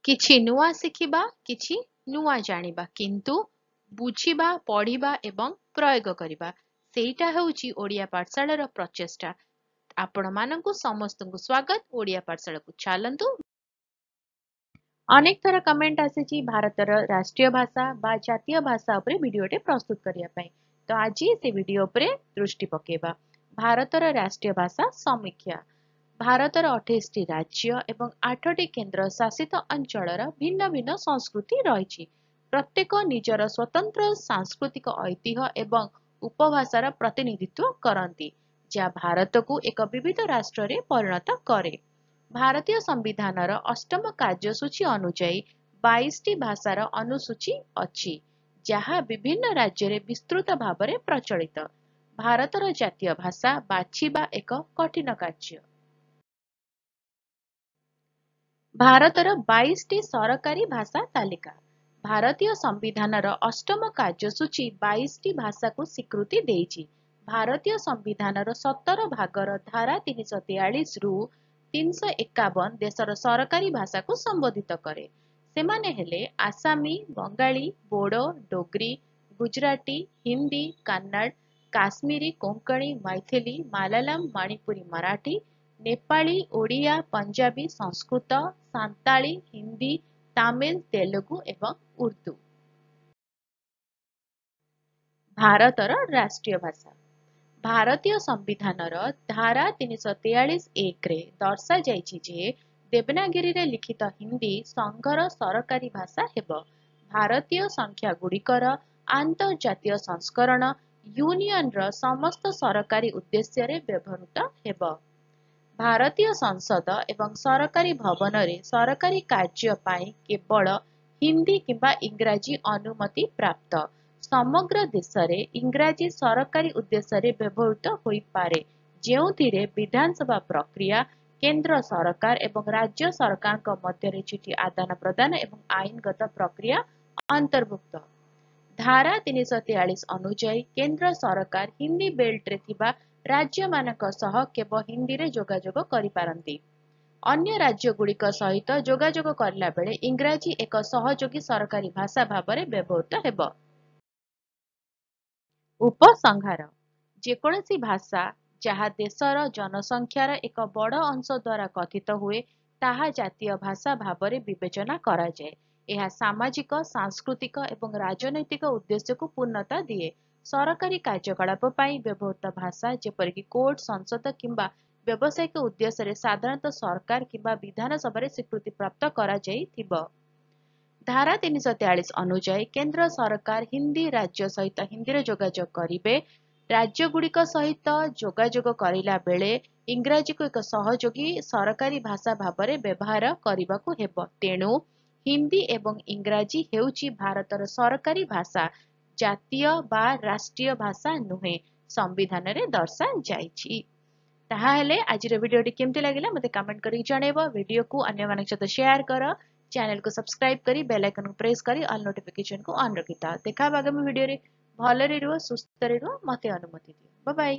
କିଛି ନୂଆ ଶିଖିବା, କିଛି ନୂଆ ଜାଣିବା, କିନ୍ତୁ ବୁଝିବା, ପଢ଼ିବା ଏବଂ ପ୍ରୟୋଗ କରିବା, ସେଇଟା ହେଉଛି ଓଡ଼ିଆ ପାଠଶାଳାର ପ୍ରଚେଷ୍ଟା। ଆପଣମାନଙ୍କୁ ସମସ୍ତଙ୍କୁ ସ୍ୱାଗତ ଓଡ଼ିଆ ପାଠଶାଳାକୁ। ଚାଲନ୍ତୁ, ଅନେକ ଥର କମେଣ୍ଟ ଆସିଛି ଭାରତର ରାଷ୍ଟ୍ରୀୟ ଭାଷା ବା ଜାତୀୟ ଭାଷା ଉପରେ ଭିଡ଼ିଓଟେ ପ୍ରସ୍ତୁତ କରିବା ପାଇଁ, ତ ଆଜି ସେ ଭିଡ଼ିଓ ଉପରେ ଦୃଷ୍ଟି ପକେଇବା। ଭାରତର ରାଷ୍ଟ୍ରୀୟ ଭାଷା ସମୀକ୍ଷା। ଭାରତର 28ଟି ରାଜ୍ୟ ଏବଂ 8ଟି କେନ୍ଦ୍ର ଶାସିତ ଅଞ୍ଚଳର ଭିନ୍ନ ଭିନ୍ନ ସଂସ୍କୃତି ରହିଛି। ପ୍ରତ୍ୟେକ ନିଜର ସ୍ୱତନ୍ତ୍ର ସାଂସ୍କୃତିକ ଐତିହ୍ୟ ଏବଂ ଉପଭାଷାର ପ୍ରତିନିଧିତ୍ୱ କରନ୍ତି, ଯାହା ଭାରତକୁ ଏକ ବିବିଧ ରାଷ୍ଟ୍ରରେ ପରିଣତ କରେ। ଭାରତୀୟ ସମ୍ବିଧାନର ଅଷ୍ଟମ କାର୍ଯ୍ୟସୂଚୀ ଅନୁଯାୟୀ 22ଟି ଭାଷାର ଅନୁସୂଚୀ ଅଛି, ଯାହା ବିଭିନ୍ନ ରାଜ୍ୟରେ ବିସ୍ତୃତ ଭାବରେ ପ୍ରଚଳିତ। ଭାରତର ଜାତୀୟ ଭାଷା ବାଛିବା ଏକ କଠିନ କାର୍ଯ୍ୟ। ଭାରତର 22ଟି ସରକାରୀ ଭାଷା ତାଲିକା। ଭାରତୀୟ ସମ୍ବିଧାନର ଅଷ୍ଟମ କାର୍ଯ୍ୟସୂଚୀ 22ଟି ଭାଷାକୁ ସ୍ୱୀକୃତି ଦେଇଛି। ଭାରତୀୟ ସମ୍ବିଧାନର 17 ଭାଗର ଧାରା 343ରୁ 351 ଦେଶର ସରକାରୀ ଭାଷାକୁ ସମ୍ବୋଧିତ କରେ। ସେମାନେ ହେଲେ ଆସାମୀ, ବଙ୍ଗାଳୀ, ବୋଡୋ, ଡୋଗ୍ରୀ, ଗୁଜରାଟୀ, ହିନ୍ଦୀ, କନ୍ନଡ଼, କାଶ୍ମୀରୀ, କୋଙ୍କଣୀ, ମୈଥିଲି, ମାଲାୟାଲମ, ମଣିପୁରୀ, ମରାଠୀ, ନେପାଳୀ, ଓଡ଼ିଆ, ପଞ୍ଜାବୀ, ସଂସ୍କୃତ, ସାନ୍ତାଳୀ, ହିନ୍ଦୀ, ତାମିଲ, ତେଲୁଗୁ ଏବଂ ଉର୍ଦ୍ଦୁ। ଭାରତର ରାଷ୍ଟ୍ରୀୟ ଭାଷା। ଭାରତୀୟ ସମ୍ବିଧାନର ଧାରା 343(1)ରେ ଦର୍ଶାଯାଇଛି ଯେ ଦେବନାଗରୀରେ ଲିଖିତ ହିନ୍ଦୀ ସଂଘର ସରକାରୀ ଭାଷା ହେବ। ଭାରତୀୟ ସଂଖ୍ୟାଗୁଡ଼ିକର ଆନ୍ତର୍ଜାତୀୟ ସଂସ୍କରଣ ୟୁନିୟନର ସମସ୍ତ ସରକାରୀ ଉଦ୍ଦେଶ୍ୟରେ ବ୍ୟବହୃତ ହେବ। ଭାରତୀୟ ସଂସଦ ଏବଂ ସରକାରୀ ଭବନରେ ସରକାରୀ କାର୍ଯ୍ୟ ପାଇଁ କେବଳ ହିନ୍ଦୀ କିମ୍ବା ଇଂରାଜୀ ଅନୁମତି ପ୍ରାପ୍ତ। ସମଗ୍ର ଦେଶରେ ଇଂରାଜୀ ସରକାରୀ ଉଦ୍ଦେଶ୍ୟରେ ବ୍ୟବହୃତ ହୋଇପାରେ, ଯେଉଁଥିରେ ବିଧାନସଭା ପ୍ରକ୍ରିୟା, କେନ୍ଦ୍ର ସରକାର ଏବଂ ରାଜ୍ୟ ସରକାରଙ୍କ ମଧ୍ୟରେ ଚିଠି ଆଦାନ ପ୍ରଦାନ ଏବଂ ଆଇନଗତ ପ୍ରକ୍ରିୟା ଅନ୍ତର୍ଭୁକ୍ତ। ଧାରା 343 ଅନୁଯାୟୀ କେନ୍ଦ୍ର ସରକାର ହିନ୍ଦୀ ବେଲ୍ଟରେ ଥିବା ରାଜ୍ୟମାନଙ୍କ ସହ କେବଳ ହିନ୍ଦୀରେ ଯୋଗାଯୋଗ କରିପାରନ୍ତି। ଅନ୍ୟ ରାଜ୍ୟଗୁଡ଼ିକ ସହିତ ଯୋଗାଯୋଗ କରିଲାବେଳେ ଇଂରାଜୀ ଏକ ସହଯୋଗୀ ସରକାରୀ ଭାଷା ଭାବରେ ବ୍ୟବହୃତ ହେବ। ଉପସଂହାର। ଯେକୌଣସି ଭାଷା ଯାହା ଦେଶର ଜନସଂଖ୍ୟାର ଏକ ବଡ଼ ଅଂଶ ଦ୍ୱାରା କଥିତ ହୁଏ, ତାହା ଜାତୀୟ ଭାଷା ଭାବରେ ବିବେଚନା କରାଯାଏ। ଏହା ସାମାଜିକ, ସାଂସ୍କୃତିକ ଏବଂ ରାଜନୈତିକ ଉଦ୍ଦେଶ୍ୟକୁ ପୂର୍ଣ୍ଣତା ଦିଏ। ସରକାରୀ କାର୍ଯ୍ୟକଳାପ ପାଇଁ ବ୍ୟବହୃତ ଭାଷା, ଯେପରିକି କୋର୍ଟ, ସଂସଦ କିମ୍ବା ବ୍ୟବସାୟିକ ଉଦ୍ଦେଶ୍ୟରେ, ସାଧାରଣତଃ ସରକାର କିମ୍ବା ବିଧାନସଭାରେ ସ୍ୱୀକୃତିପ୍ରାପ୍ତ କରାଯାଇଥିବ। ଧାରା 343 ଅନୁଯାୟୀ କେନ୍ଦ୍ର ସରକାର ହିନ୍ଦୀ ରାଜ୍ୟ ସହିତ ହିନ୍ଦୀରେ ଯୋଗାଯୋଗ କରିବେ। ରାଜ୍ୟଗୁଡ଼ିକ ସହିତ ଯୋଗାଯୋଗ କରିଲା ବେଳେ ଇଂରାଜୀକୁ ଏକ ସହଯୋଗୀ ସରକାରୀ ଭାଷା ଭାବରେ ବ୍ୟବହାର କରିବାକୁ ହେବ। ତେଣୁ ହିନ୍ଦୀ ଏବଂ ଇଂରାଜୀ ହେଉଛି ଭାରତର ସରକାରୀ ଭାଷା, ଜାତୀୟ ବା ରାଷ୍ଟ୍ରୀୟ ଭାଷା ନୁହେଁ, ସମ୍ବିଧାନରେ ଦର୍ଶାଯାଇଛି। ତାହାହେଲେ ଆଜିର ଭିଡ଼ିଓଟି କେମିତି ଲାଗିଲା ମୋତେ କମେଣ୍ଟ କରିକି ଜଣାଇବ। ଭିଡ଼ିଓକୁ ଅନ୍ୟମାନଙ୍କ ସହିତ ସେୟାର କର, ଚ୍ୟାନେଲକୁ ସବସ୍କ୍ରାଇବ କରି ବେଲ୍ ଆଇକନକୁ ପ୍ରେସ୍ କରି ଅଲ୍ ନୋଟିଫିକେସନକୁ ଅନ୍ ରଖିଥାଅ। ଦେଖା ଆଗାମୀ ଭିଡ଼ିଓରେ। ଭଲରେ ରୁହ, ସୁସ୍ଥରେ ରୁହ, ମୋତେ ଅନୁମତି ଦିଅ। ବାଏ।